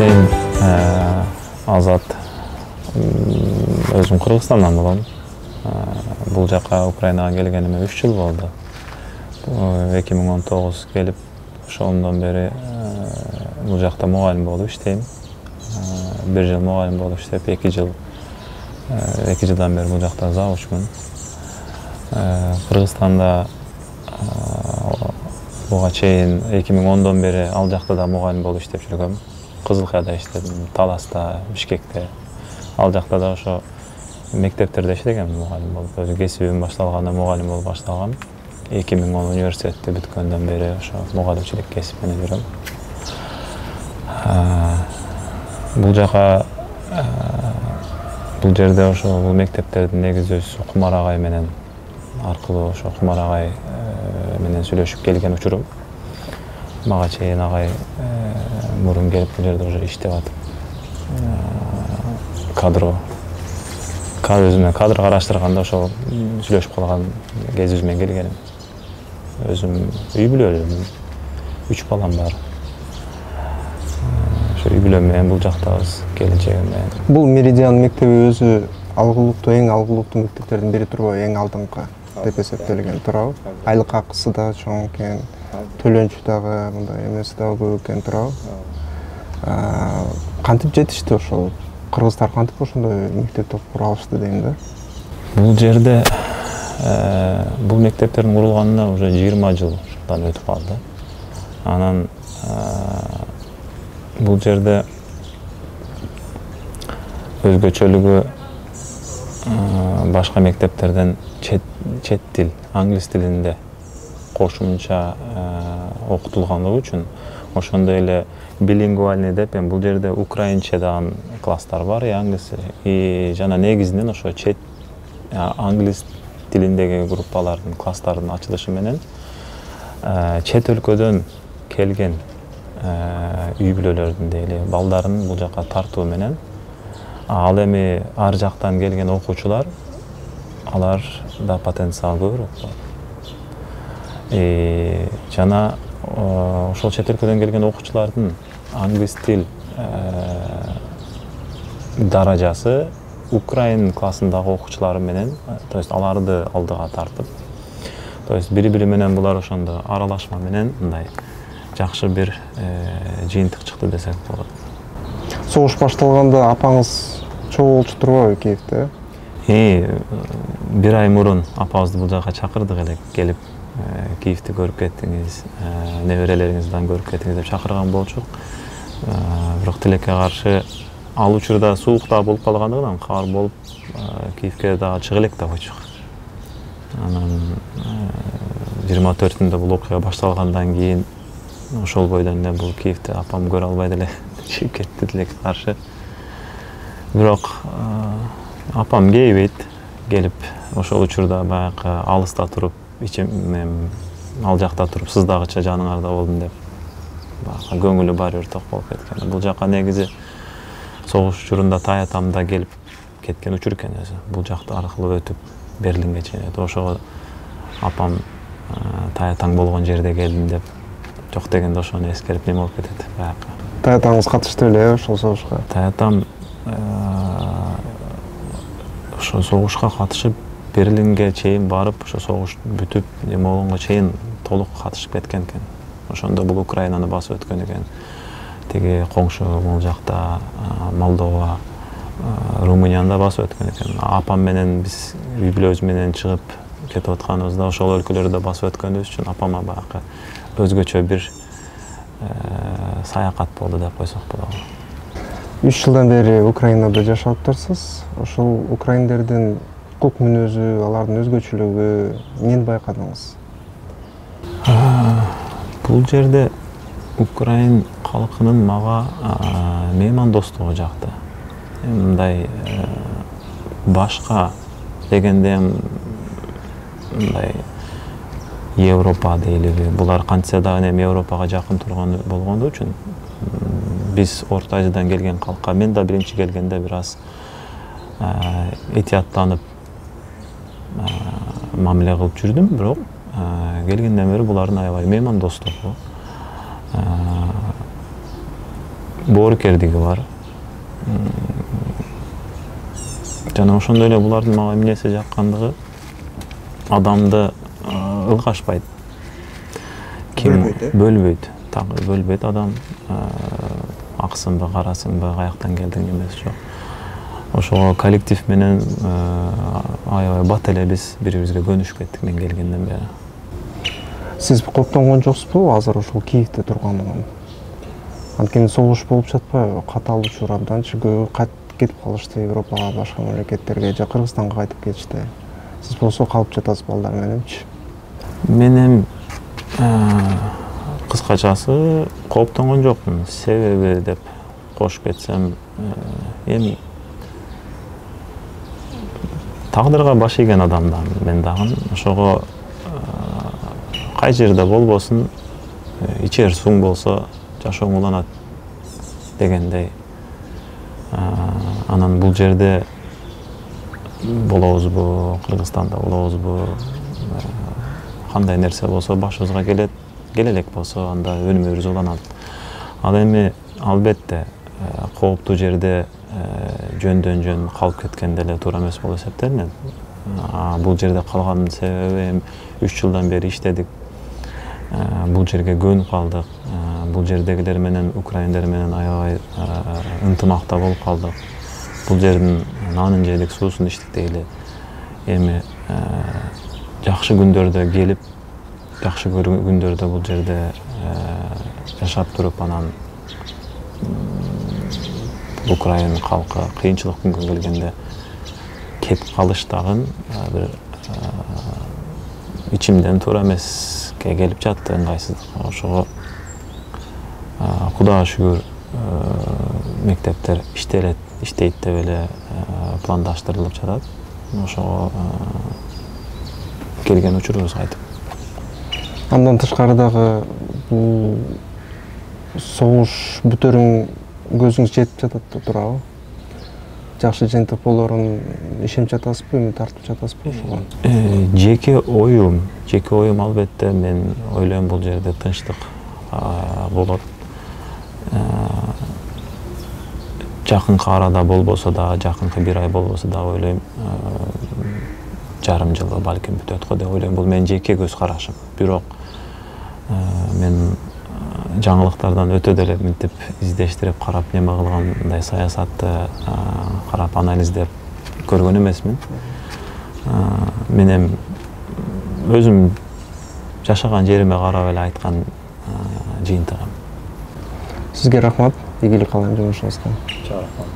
Мен Азат өзüm Кыргызстандан болом. Бул жака Украинага келгениме 3 жыл болду. 2019 келип, ошондон бери бул жакта мугалим болуп иштейм. 1 жыл мугалим болуп иштеп, 2 жылдан бери бул жакта завучмун. Кыргызстанда буга чейин 2010дон бери ал жакта да мугалим болуп иштеп жүргөм. Кызылкаяда иштедим, Таласта, Бишкекте. Ал жакта да ошо мектептерде иштегем мугалим болуп. Өзү кесибим башталганда мугалим болуп башталгам. 2010 университетти бүткөндөн бери ошо мугалимчилик кесип менен жүрөм. Бул жака бул жерде ошо бул мектептердин негиздөөчүсү Кумар агай менен аркылуу ошо Кумар агай менен сүйлөшүп келген учурум. Мага чейин агай мурун келип бул жерде уже иштеп атып өзүмө кадр караштырганда ошо сүйлөшүп калган кезибиз менен келгеним. Өзүм үй бүлөлүүмүн, 3 балам бар. Ошо үй бүлөм менен бул жактабыз, келечегим менен. Бул Меридиан мектеби өзү эң алгылыктуу мектептердин бири турбу, эң алдыңкы деп эсептелген туурабы? Айлык акысы да чоң экен, төлөнчү дагы мындай эмеси дагы көп экен туурабы? Кантип жетишти ошол? Кыргыздар кантип ошондой мектепти кура алышты дейм да? Бул жерде бул мектептердин курулганына уже 20 жылдан өтүп калды. Анан бул жерде өзгөчөлүгү башка мектептерден чет тил, англис тилинде кошумча окутулганлыгы үчүн ошондой эле билингвальный деп бул жерде украинча дагы класстар бар, англис жана негизинен ошо чет англис тилиндеги группалардын класстардын ачылышы менен чет өлкөдөн келген үй бүлөлөрдүн дейли балдарын бул жака тартуу менен ал эми ар жактан келген окуучулар алар да потенциал көбүрөөк болот. Жана ошол чет өлкөдөн келген окуучулардын англис тил даражасы Украин классындагы окуучулары менен, то есть аларды алдыга тартып, то есть бири-бири менен булар ошондо аралашма менен мындай жакшы бир жыйынтык чыкты десек болот. Согуш башталганда апаңыз чогуу болчу турбайбы Киевде? 1 ай мурун апабызды бул жака чакырдык эле, келип Киевди көрүп кеттиңиз, неберелериңизди көрүп кеттиңиз деп чакырган болчук. Бирок тилекке каршы ал учурда суук да болуп калгандыгынан кар болуп Киевге дагы чыга элек да койчук. Анан 24-түндө бул окуя башталгандан кийин ошол бойдон эле бул Киевди апам көрө албай деле чыгып кетти тилекке каршы. Бирок апам кейбейт, келип ошол учурда баягы алыста туруп, ал жакта туруп сыздагыча жаныңарда болдум деп баягы көңүлү баары бир ток болуп кеткен. Бул жака негизи согуш учурунда Таятамда келип кеткен учур экен өзү. Бул жакта аркылуу өтүп Берлинге чейин өтүп, ошого апам Таятаң болгон жерде келдим деп жок дегенде ошону эскерип неме болуп кетет баягы. Таятаңыз катышты эле ошол согушка? Таятам ошо согушка катышып Берлинге чейин барып, ошо согуш бүтүп неме болгонго чейин толук катышып кеткен экен. Ошондо бул Украинаны басып өткөн экен. Тиги коңшу бул жакта Молдова, Румынияны да басып өткөн экен. Апам менен биз үй бүлөбүз менен чыгып кетип атканыбызда ошол өлкөлөрдү басып өткөнүбүз үчүн апама баягы өзгөчө бир саякат болду деп койсок болот. 3 жылдан бери Украинада жашап атырсыз. Ошол украиндердин укук мүнөзү, алардын өзгөчөлүгү эмнени байкадыңыз? Бул жерде Украин калкынын мага меймандостугу жакты. Мындай башка дегенде мындай Европа дейлиби, булар кантса дагы эми Европага жакын турган болгондугу үчүн биз Орто Азиядан келген калкка, мен да биринчи келгенде бир аз этияттанып мамиле кылып жүрдүм, бирок келгенден бери булардын аябай меймандостугу, боорукердиги бар. Жана ошондой эле булардын мага эмнеси жаккандыгы адамды ылгашпайт. Бөлбөйт. Так бөлбөйт адам. Аксыңбы, карасыңбы, каяктан келдиң эмес жок. Ошого коллектив менен аябай бат эле биз бири-бирибизге көнүшүп кеттик мен келгенден бери. Сиз коптонгон жоксузбу азыр ушул Киевде турганыңан? Анткени согуш болуп жатпайбы? Каталуучулар абданчы көп кайтып кетип калышты Европага, башка мамлекеттерге же Кыргызстанга кайтып кетишти. Сиз болсо калып жатасыз балдар мененчи? Мен кыскачасы кооптонгон жокмун. Себеби деп кошуп кетсем, эми тагдырга баш ийген адаммын мен дагы. Ошого кай жерде болбосун, ичер суң болсо жашооң уланат дегендей. Анан бул жерде болобузбу, Кыргызстанда болобузбу, кандай нерсе болсо башыбызга келет, келе элек болсо анда өнүмүбүз уланат. Ал эми албетте кооптуу жерде жөндөн жөн калып кеткен деле туура эмес болуп эсептелинет. Бул жерде калгандын себеби эми 3 жылдан бери иштедик. Бул жерге көнүп калдык. Бул жердегилер менен, украиндер менен аябай ынтымакта болуп калдык. Бул жердин нанын жедик, суусун ичтик дейли. Эми жакшы күндөрдө келип, жакшы күндөрдө бул жерде жашап туруп, анан Украина калкы кыйынчылык күнгө келгенде кетип калыш дагы бир ичимден туура эмеске келип жатты, ыңгайсыздык. Ошого Кудайга шүгүр мектептер иштейт деп эле пландаштырылып жатат. Ошого келген учурубуз кайтып. Андан тышкары дагы бул согуш бүтөрүн көзүңүз жетип жатат да туурабы? Жакшы жыйынтык болорун ишенип жатасызбы, үмүт артып жатасызбы ошого? Жеке оюм албетте мен ойлойм бул жерде тынчтык болот. Жакынкы арада болбосо да, жакынкы бир ай болбосо да ойлойм жарым жылы балким бүтөт го деп ойлойм. Бул менин жеке көз карашым. Бирок мен жаңылыктардан өтө деле мынтип издештирип карап, неме кылгандай саясатты карап анализдеп көргөн эмесмин. Мен эми өзүм жашаган жериме карап эле айткан жыйынтыгым. Сизге рахмат. Ийгилик каалайм жумушуңузга. Рахмат.